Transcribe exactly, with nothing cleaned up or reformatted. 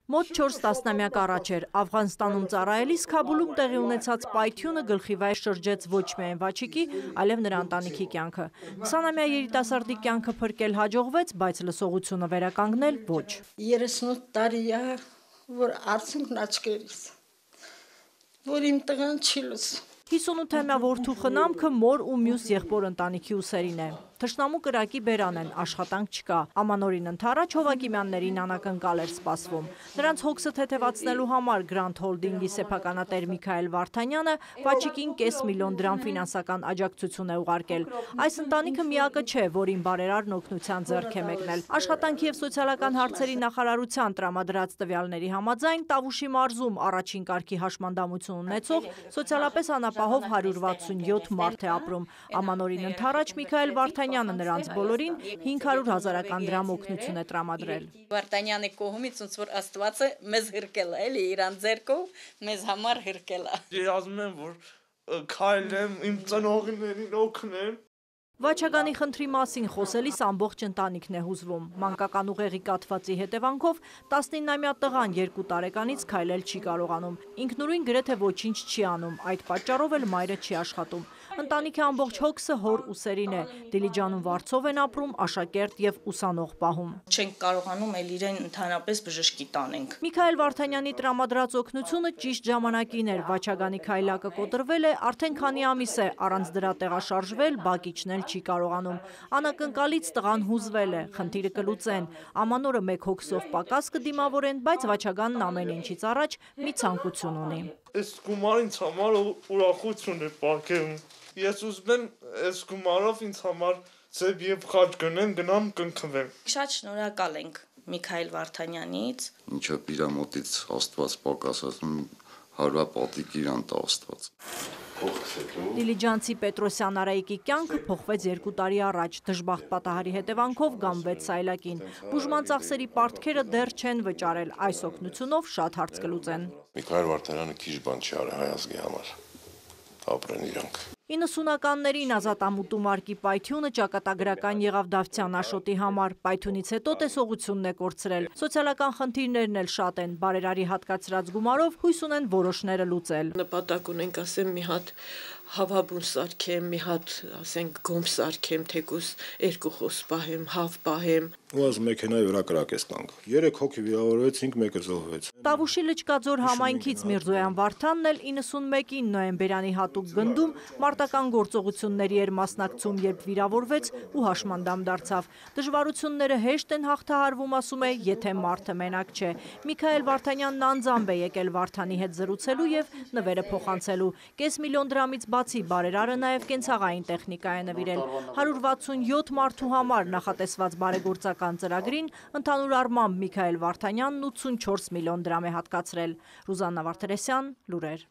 Մոտ չորս տասնամյակ առաջ էր Աֆղանստանում ծառայելիս Քաբուլում տեղի ունեցած պայթյունը գլխի վայր շրջեց ոչ միայն Վաչիկի, այլև նրա ընտանիքի կյանքը։ քսանամյա երիտասարդի կյանքը փրկել հաջողվեց, բայց լսողությունը վերականգնել ոչ։ երեսունութ տարի է, որ արցունքն աչքերից, որ իմ տղան չի լսում։ հիսունութամյա որդու խնամքը մոր ու մյուս եղբոր ընտանիքի ուսերին է։ Թշնամու կրակի բերան են, աշխատանք չկա։ Ամանորին ընթരാճ Հովակիմյաններին անակնկալ էր սպասվում։ Նրանց հոգսը թեթևացնելու համար Grand Holding-ի սեփականատեր Միքայել Վարդանյանը Վաչիկին կես միլիոն դրամ ֆինանսական աջակցություն է ուղարկել։ Այս ընտանիքը միակը չէ, որին բարերարն օգնության ձեռք է մեկնել։ Աշխատանքի և սոցիալական հարցերի նախարարության տրամադրած տվյալների համաձայն Տավուշի մարզում առաջին կարգի հաշմանդամություն ունեցող սոցիալապես անապահով հարյուր վաթսունյոթ մարդ է ապրում։ Ամանորին ընթരാճ Միքայել Վարդանյանը նրանց բոլորին հինգ հարյուր հազարական դրամ օգնություն է տրամադրել։ Վարդանյանի կողմից ոնց որ Աստվածը մեզ հրկել է, էլի իրան ձեռքով մեզ համար հրկել է։ Ես ասում եմ, որ քայլեմ, իմ ծնողներին օգնեմ։ Վաչագանի խնդրի մասին խոսելիս ամբողջ ընտանիքն է հուզվում։ Մանկական ուղեղի կաթվածի հետևանքով տասնինամյա տղան երկու տարեկանից քայլել չի կարողանում։ Ինքնուրույն գրեթե ոչինչ չի անում, այդ պատճառով էլ մայրը չի աշխատում։ Ընտանիքի ամբողջ հոգսը հոր ուսերին է։ Դիլիջանում վարձով են ապրում, աշակերտ եւ ուսանող պահում։ Չենք կարողանում էլ իրեն ընդհանրապես բժշկի տանենք։ Միքայել Վարդանյանի տրամադրած օգնությունը ճիշտ ժամանակին էր։ Վաչագանի քայլակը կոտրվել է, արդեն քանի ամիս է, առանց դրա տեղաշարժվել, բակ իջնել չի կարողանում։ Անակնկալից տղան հուզվել է, խնդիրը կլուծեն։ Ամանորը մեկ հոգսով պակաս կդիմավորեն, բայց Վաչագանն ամեն ինչից առաջ մի ցանկություն ունի։ Այս գումարը ինձ համար ուրախություն է պարգևում։ Ես ուզում եմ այս գումարով ինձ համար ձև եւ խաչ գնեմ, գնամ կնքվեմ։ Շատ շնորհակալ ենք Միքայել Վարդանյանից։ Ինչը իր մոտից Աստված պակասում, հարվա պատիկ իրան տա Աստված։ Դիլիջանցի Պետրոսյան Արայիկի կյանքը փոխվեց երկու տարի առաջ, դժբախտ պատահարի հետևանքով գամվեց սայլակին։ Բուժման ծախսերի պարտքերը դեռ չեն վճարել, այս օգնությունով շատ հարց կլուծեն։ Միքայել Վարդանյանը քիչ բան չի արել հայ ազգի համար, ապրեն իրանք։ իննսունականներին ազատամուտու մարկի պայթյունը ճակատագրական եղավ Դավթյան Աշոտի համար, պայթյունից հետո տեսողությունն է կորցրել, սոցիալական խնդիրներն էլ շատ են, բարերարի հատկացրած գումարով հույս ունեն որոշները լուծել։ Նպատակ ունենք, ասեմ, մի հատ հավաբուն սարքեմ, մի հատ, ասենք, գոմ սարքեմ, թեկուս երկու խոս պահեմ, հավ պահեմ։ Ու аз մեքենայի վրա կրակես տանք։ Երեք հոգի վիրավորվեցինք, մեկը զոհվեց։ Տավուշի Լճկաձոր համայնքից Միրզոյան Վարդանն էլ իննսունմեկին նոյեմբերյանի հատուկ գնդում մարտական գործողությունների էր մասնակցում, երբ վիրավորվեց ու հաշմանդամ դարձավ։ Դժվարությունները հեշտ են հաղթահարվում, ասում է, եթե մարդը մենակ չէ։ Միքայել Վարդանյանն անձամբ է եկել Վարդանի հետ զրուցելու եւ նվերը փոխանցելու։ Կես միլիոն դրամից բացի բարերարը նաև կենցաղային տեխնիկա է նվիրել։ հարյուր վաթսունյոթ մարդու համար նախատեսված բարեգործական ծրագրին ընդհանուր առմամբ Միքայել Վարդանյանն ութսունչորս միլիոն դրամ է հատկացրել։ Ռուզաննա Վարդերեսյան, լուրեր։